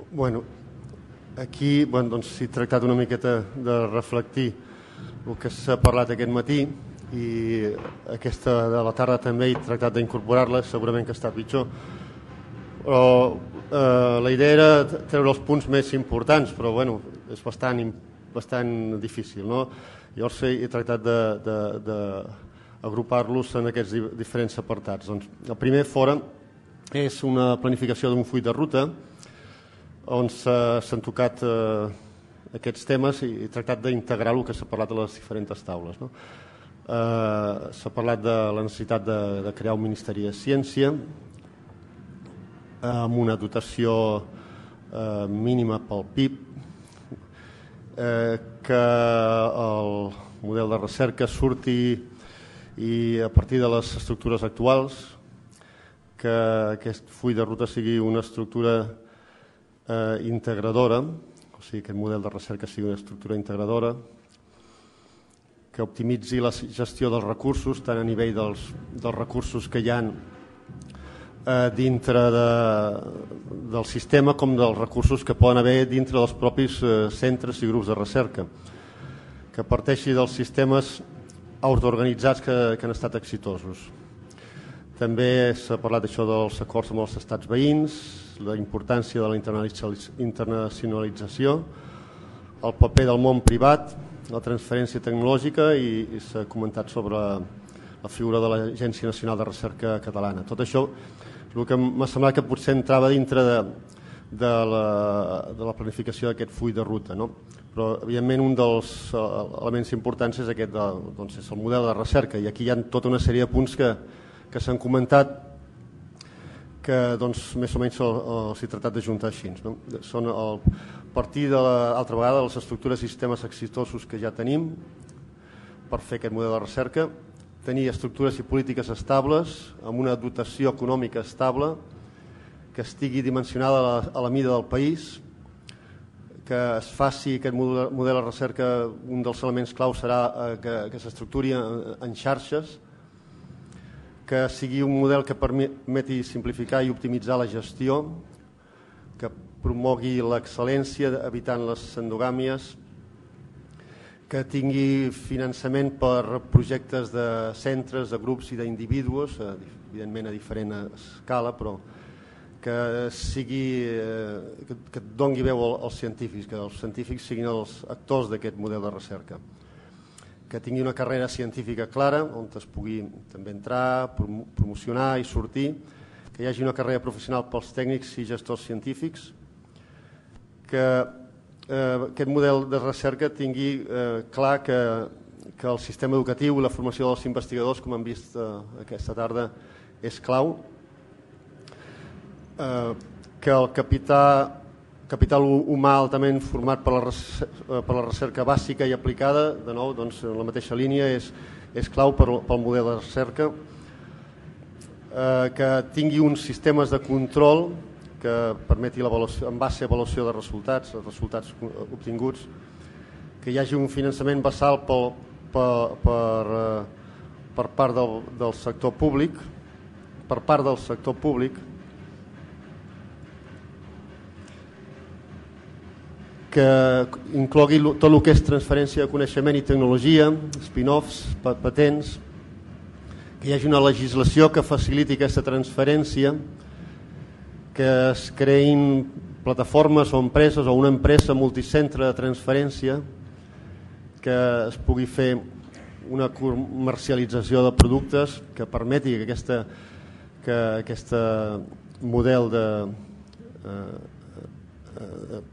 Bueno, aquí s'ha tractat una miqueta de reflectir el que s'ha parlat aquest matí i aquesta de la tarda també he tractat d'incorporar-la, segurament que està pitjor, però la idea era treure els punts més importants, però bueno, és bastant difícil, no? Llavors he tractat d'agrupar-los en aquests diferents apartats. Doncs, el primer fora és una planificació d'un full de ruta on s'han tocat aquests temes i he tractat d'integrar el que s'ha parlat a les diferents taules, no? S'ha parlat de la necessitat de crear un Ministeri de Ciència amb una dotació mínima pel PIB, que el model de recerca surti i a partir de les estructures actuals, que aquest full de ruta sigui una estructura integradora, o sigui que el model de recerca sigui una estructura integradora, que optimitzi la gestió dels recursos, tant a nivell dels recursos que hi ha dintre del sistema com dels recursos que poden haver dintre dels propis centres i grups de recerca, que parteixi dels sistemes autoorganitzats que han estat exitosos. També s'ha parlat d'això dels acords amb els estats veïns, la importància de la internacionalització, el paper del món privat, la transferència tecnològica i s'ha comentat sobre la figura de l'Agència Nacional de Recerca Catalana. Tot això el que m'ha semblat que potser entrava dintre de la planificació d'aquest full de ruta, no? Però evidentment un dels elements importants és aquest, doncs és el model de recerca, i aquí hi ha tota una sèrie de punts que s'han comentat que doncs, més o menys s'hi ha tractat d'ajuntar així, no? Són a partir de l'altra vegada les estructures i sistemes exitosos que ja tenim per fer aquest model de recerca, tenir estructures i polítiques estables amb una dotació econòmica estable que estigui dimensionada a la mida del país, que es faci aquest model de recerca, un dels elements clau serà que s'estructuri en xarxes, que sigui un model que permeti simplificar i optimitzar la gestió, que promogui l'excel·lència evitant les endogàmies, que tingui finançament per projectes de centres, de grups i d'individus, evidentment a diferent escala, però que doni veu als científics, que els científics siguin els actors d'aquest model de recerca, que tingui una carrera científica clara on es pugui també entrar, promocionar i sortir, que hi hagi una carrera professional pels tècnics i gestors científics, que aquest model de recerca tingui clar que el sistema educatiu i la formació dels investigadors, com hem vist aquesta tarda, és clau, que el capital humà altament format per la recerca bàsica i aplicada, de nou, doncs, en la mateixa línia, és clau pel model de recerca, que tingui uns sistemes de control que permeti en base a avaluació de resultats obtinguts, que hi hagi un finançament basal per part del sector públic, que inclogui tot el que és transferència de coneixement i tecnologia, spin-offs, patents, que hi hagi una legislació que faciliti aquesta transferència, que es creïn plataformes o empreses o una empresa multicentre de transferència, que es pugui fer una comercialització de productes que permeti que aquest model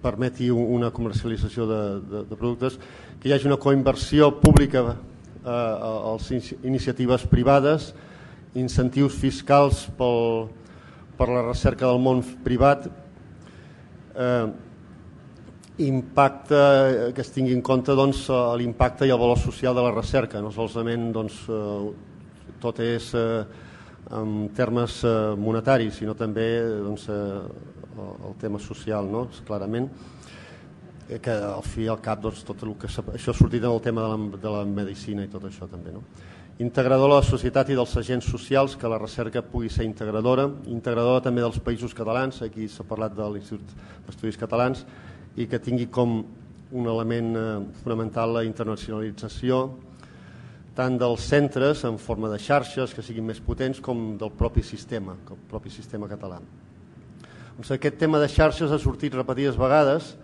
permeti una comercialització de productes, que hi hagi una coinversió pública a les iniciatives privades, incentius fiscals per la recerca del món privat, impacte, que es tingui en compte l'impacte i el valor social de la recerca, no solament tot és en termes monetaris, sinó també el tema social, no? Clarament, que al fi i al cap tot el que això ha sortit en el tema de la medicina i tot això també, no? integrador de la societat i dels agents socials, que la recerca pugui ser integradora també dels països catalans, aquí s'ha parlat de l'Institut d'Estudis Catalans, i que tingui com un element fonamental la internacionalització tant dels centres en forma de xarxes que siguin més potents com del propi sistema català. Doncs aquest tema de xarxes ha sortit repetides vegades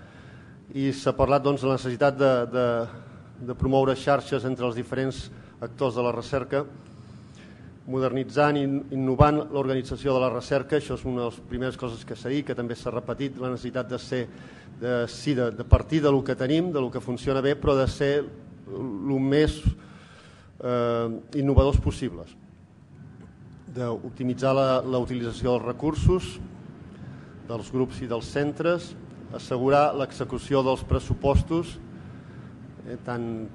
i s'ha parlat de la necessitat de promoure xarxes entre els diferents actors de la recerca, modernitzant i innovant l'organització de la recerca. Això és una de les primeres coses que s'ha dit, que també s'ha repetit, la necessitat de partir del que tenim, del que funciona bé, però de ser el més innovadors possibles, d'optimitzar la utilització dels recursos dels grups i dels centres, assegurar l'execució dels pressupostos, tant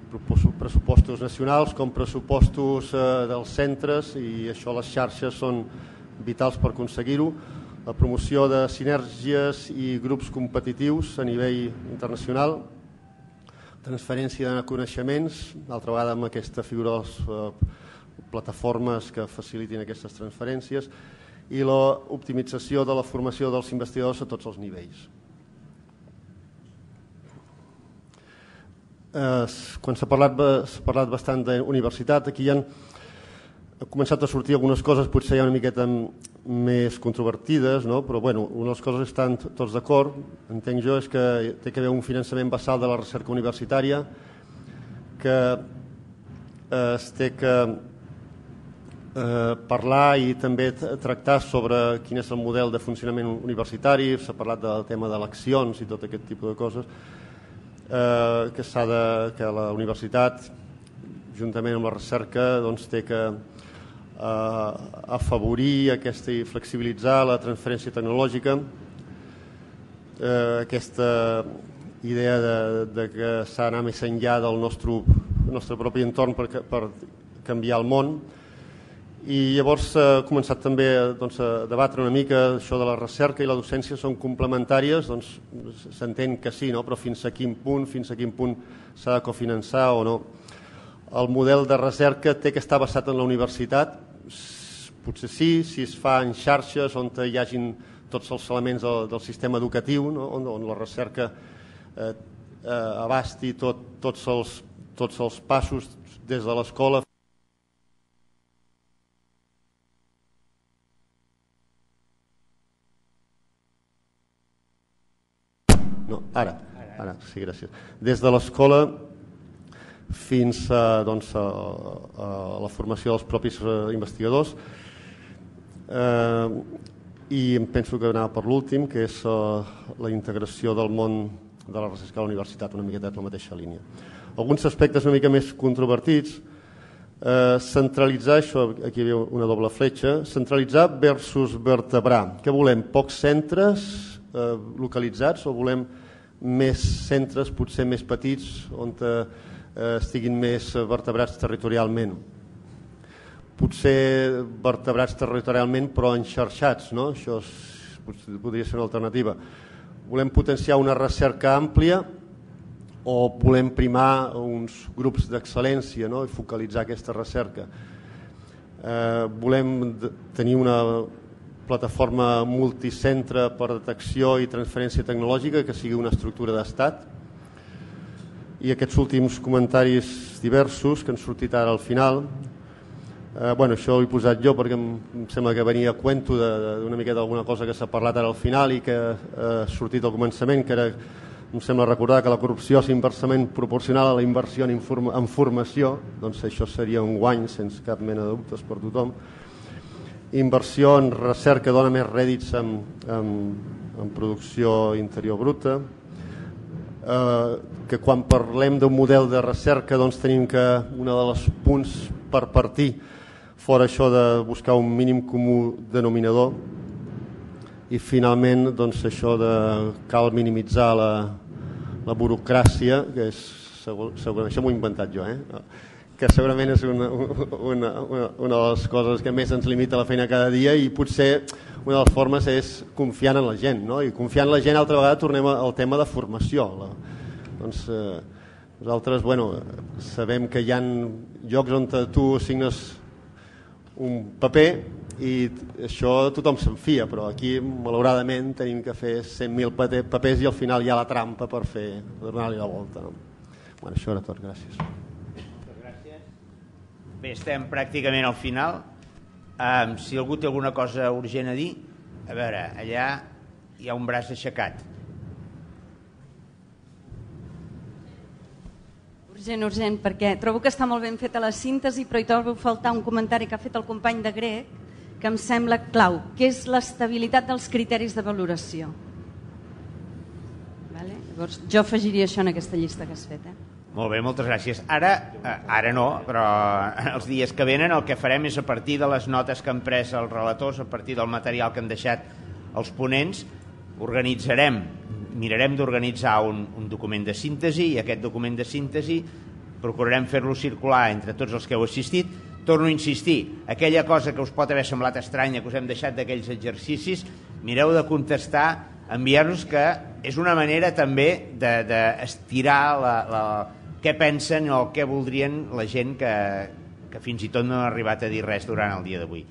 pressupostos nacionals com pressupostos dels centres, i això les xarxes són vitals per aconseguir-ho, la promoció de sinergies i grups competitius a nivell internacional, transferència de coneixements, d'altra vegada amb aquesta figura de les plataformes que facilitin aquestes transferències, i l'optimització de la formació dels investigadors a tots els nivells. Quan s'ha parlat bastant d'universitat, aquí han començat a sortir algunes coses potser ja una miqueta més controvertides, però una de les coses estan tots d'acord, entenc jo, és que té que haver un finançament basal de la recerca universitària, que es té que parlar i també tractar sobre quin és el model de funcionament universitari. S'ha parlat del tema d'eleccions i tot aquest tipus de coses, que la universitat, juntament amb la recerca, té que afavorir aquesta i flexibilitzar la transferència tecnològica, aquesta idea de que s'ha d'anar més enllà del nostre propi entorn per canviar el món. I llavors s'ha començat també a debatre una mica això de la recerca i la docència són complementàries. S'entén que sí, però fins a quin punt s'ha de cofinançar o no. El model de recerca té que estar basat en la universitat, potser sí, si es fa en xarxes on hi hagin tots els elements del sistema educatiu, on la recerca abasti tots els passos des de l'escola. Ara, sí, gràcies. Des de l'escola fins a la formació dels propis investigadors, i em penso que anava per l'últim, que és la integració del món de la recerca a la universitat, una miqueta en la mateixa línia. Alguns aspectes una mica més controvertits, centralitzar, això aquí hi havia una doble fletxa, centralitzar versus vertebrar. Què volem? Pocs centres localitzats o volem més centres, potser més petits, on estiguin més vertebrats territorialment? Potser vertebrats territorialment però enxarxats, això podria ser una alternativa. Volem potenciar una recerca àmplia o volem primar uns grups d'excel·lència i focalitzar aquesta recerca? Volem tenir una plataforma multicentre per detecció i transferència tecnològica que sigui una estructura d'estat? I aquests últims comentaris diversos que han sortit ara al final, això ho he posat jo perquè em sembla que venia a cuento d'una miqueta d'alguna cosa que s'ha parlat ara al final i que ha sortit al començament, que era, em sembla recordar, que la corrupció és inversament proporcional a la inversió en formació. Doncs això seria un guany sense cap mena de dubtes per tothom. Inversió en recerca dona més rèdits en producció interior bruta, que quan parlem d'un model de recerca tenim que un dels punts per partir fora això de buscar un mínim comú denominador, i finalment això de cal minimitzar la burocràcia, que és segurament, això m'ho he inventat jo, que segurament és una de les coses que més ens limita la feina cada dia, i potser una de les formes és confiant en la gent, i confiant en la gent altra vegada tornem al tema de formació. Nosaltres, sabem que hi ha llocs on tu signes un paper i això tothom se'n fia, però aquí malauradament tenim que fer 100.000 papers i al final hi ha la trampa per donar-li la volta. Això era tot, gràcies. Gràcies. Bé, estem pràcticament al final. Si algú té alguna cosa urgent a dir, a veure, allà hi ha un braç aixecat. Urgent, perquè trobo que està molt ben feta la síntesi, però hi trobo a faltar un comentari que ha fet el company de grec, que em sembla clau, que és l'estabilitat dels criteris de valoració. Llavors, jo afegiria això en aquesta llista que has fet. Molt bé, moltes gràcies. Ara no, però els dies que venen el que farem és, a partir de les notes que han pres els relators, a partir del material que han deixat els ponents, mirarem d'organitzar un document de síntesi, i aquest document de síntesi procurarem fer-lo circular entre tots els que heu assistit. Torno a insistir, aquella cosa que us pot haver semblat estranya, que us hem deixat d'aquells exercicis, mireu de contestar, enviar-nos, que és una manera també d'estirar què pensen o què voldrien la gent que fins i tot no ha arribat a dir res durant el dia d'avui.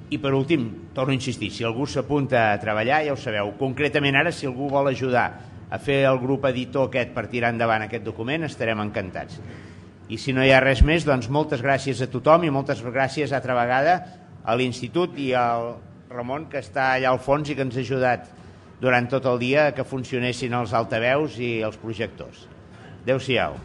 I per últim, torno a insistir, si algú s'apunta a treballar, ja ho sabeu, concretament ara, si algú vol ajudar a fer el grup editor aquest per tirar endavant aquest document, estarem encantats. I si no hi ha res més, doncs moltes gràcies a tothom i moltes gràcies altra vegada a l'Institut i al Ramon, que està allà al fons i que ens ha ajudat durant tot el dia que funcionessin els altaveus i els projectors. Adéu-siau.